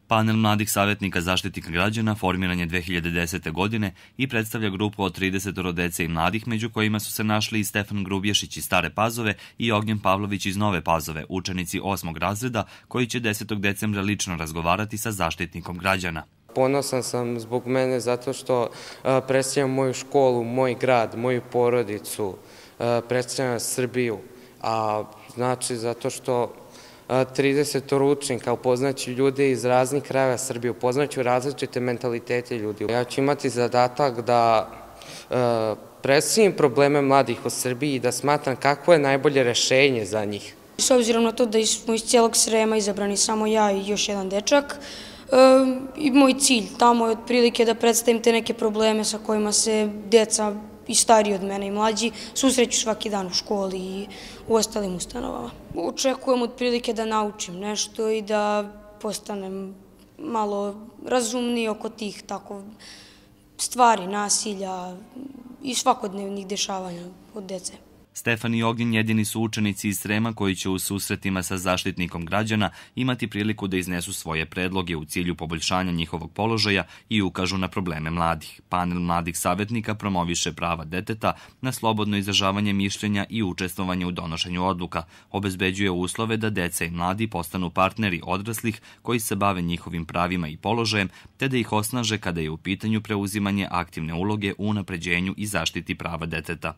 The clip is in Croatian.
Panel mladih savjetnika Zaštitnika građana formiran je 2010. godine i predstavlja grupu od 30 dece i mladih, među kojima su se našli i Stefan Grubješić iz Stare Pazove i Ognjen Pavlović iz Nove Pazove, učenici 8. razreda koji će 10. decembra lično razgovarati sa Zaštitnikom građana. Ponosan sam zbog mene zato što predstavljam moju školu, moj grad, moju porodicu, predstavljam Srbiju, a znači zato što 30 učenika, upoznaću ljude iz raznih krajeva Srbije, upoznaću različite mentalitete ljudi. Ja ću imati zadatak da predstavim probleme mladih u Srbiji i da smatram kakvo je najbolje rešenje za njih. S obzirom na to da smo iz cijelog Srema izabrani samo ja i još jedan dečak, i moj cilj tamo je otprilike da predstavim te neke probleme sa kojima se deca i stariji od mene i mlađi susreću svaki dan u školi i u ostalim ustanovama. Očekujem otprilike da naučim nešto i da postanem malo razumniji oko tih tako stvari, nasilja i svakodnevnih dešavanja od dece. Stefan i Ognjen jedini su učenici iz Srema koji će u susretima sa Zaštitnikom građana imati priliku da iznesu svoje predloge u cilju poboljšanja njihovog položaja i ukažu na probleme mladih. Panel mladih savjetnika promoviše prava deteta na slobodno izražavanje mišljenja i učestvovanje u donošenju odluka, obezbeđuje uslove da deca i mladi postanu partneri odraslih koji se bave njihovim pravima i položajem, te da ih osnaže kada je u pitanju preuzimanje aktivne uloge u unapređenju i zaštiti prava deteta.